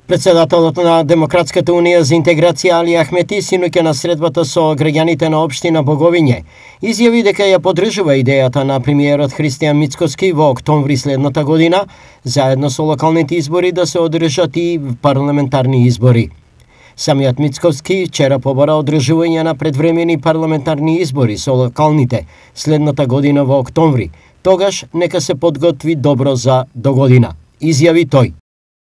Председателот на Демократската унија за интеграција Али Ахмети синоќа на средбата со граѓаните на општина Боговиње изјави дека ја поддржува идејата на премиерот Христијан Мицкоски во октомври следната година, заедно со локалните избори да се одржат и парламентарни избори. Самиот Мицкоски вчера побара одржување на предвремени парламентарни избори со локалните следната година во октомври. Тогаш нека се подготви добро за догодина, изјави тој.